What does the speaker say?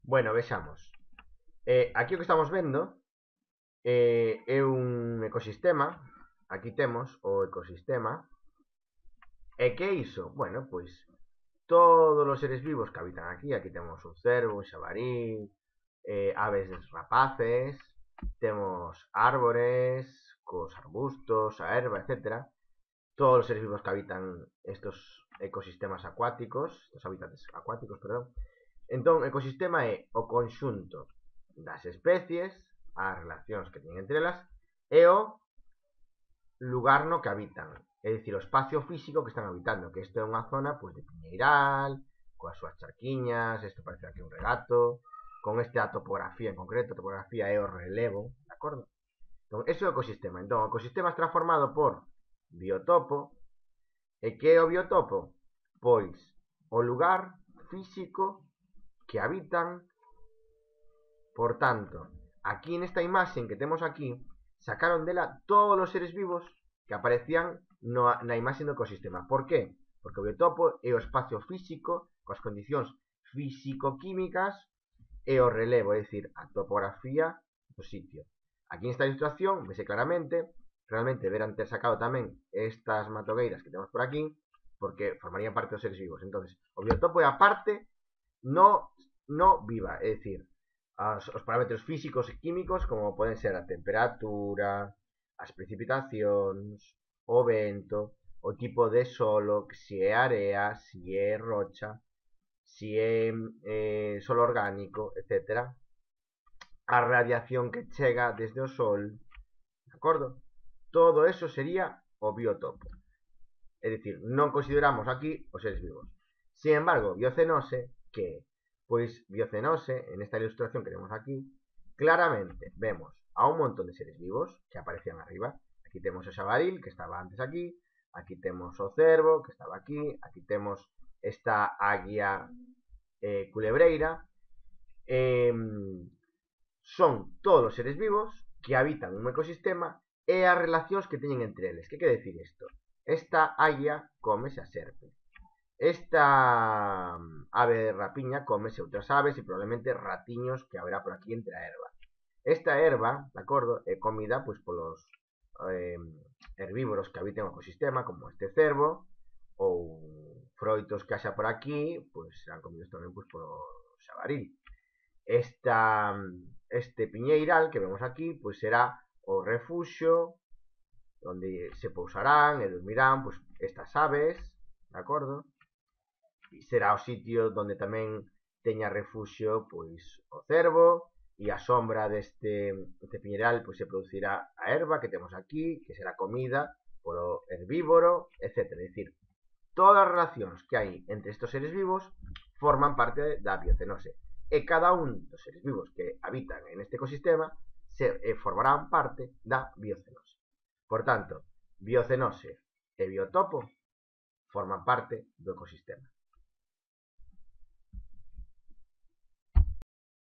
Bueno, vexamos. Aquí o que estamos vendo é un ecosistema. Aquí temos o ecosistema. E que é iso? Bueno, pois todos os seres vivos que habitan aquí. Aquí temos un cervo, un xabarí, aves rapaces, temos árbores, cos arbustos, a erva, etcétera. Todos os seres vivos que habitan estos ecosistemas acuáticos, estos hábitats acuáticos, perdón. Entón, ecosistema é o conxunto das especies, as relacións que teñen entre elas, e o lugar no que habitan. É dicir, o espacio físico que están habitando, que isto é unha zona pois, de piñeiral, coas súas charquiñas, isto parece aquí un regato, con esta topografía en concreto, a topografía é o relevo, de acordo? Entón, ese é o ecosistema. Entón, o ecosistema está formado por biotopo. E que é o biotopo? Pois o lugar físico que habitan. Por tanto, aquí nesta imaxe que temos aquí, sacaron dela todos os seres vivos que aparecían na imaxe do ecosistema. Por que? Porque o biotopo é o espacio físico coas condicións físico-químicas e o relevo, é dicir, a topografía do sitio. Aquí nesta ilustración vese claramente, realmente deberán ter sacado tamén estas matogueiras que temos por aquí, porque formarían parte dos seres vivos. Entonces, o biotopo é a parte no viva, é dicir, os parámetros físicos e químicos como poden ser a temperatura, as precipitacións, o vento, o tipo de solo, se é area, se é rocha, se é solo orgánico, etcétera. A radiación que chega desde o sol, de acordo? Todo eso sería o biotopo. É dicir, non consideramos aquí os seres vivos. Sin embargo, biocenose, que pois biocenose, en esta ilustración que temos aquí, claramente vemos a un montón de seres vivos que aparecían arriba. Aquí temos o xabaril, que estaba antes aquí, aquí temos o cervo, que estaba aquí temos esta águia culebreira. Son todos os seres vivos que habitan un ecosistema e as relacións que teñen entre eles. Que quere decir isto? Esta águia cómese a serpe. Esta ave de rapiña cómese outras aves e probablemente ratiños que haberá por aquí entre a erva. Esta erva, de acordo, é comida pois polos herbívoros que habiten o ecosistema, como este cervo, ou froitos que haxa por aquí, pois serán comidos tamén pois polo xabaril. Este piñeiral que vemos aquí, pois será o refuxio onde se pousarán e dormirán pois estas aves, de acordo? E será o sitio onde tamén teña refuxio pois o cervo, e a sombra deste piñeiral pois se producirá a erva que temos aquí, que será comida polo herbívoro, etc. É dicir, todas as relacións que hai entre estes seres vivos forman parte da biocenose. E cada un dos seres vivos que habitan en este ecosistema formarán parte da biocenose. Por tanto, biocenose e biotopo forman parte do ecosistema.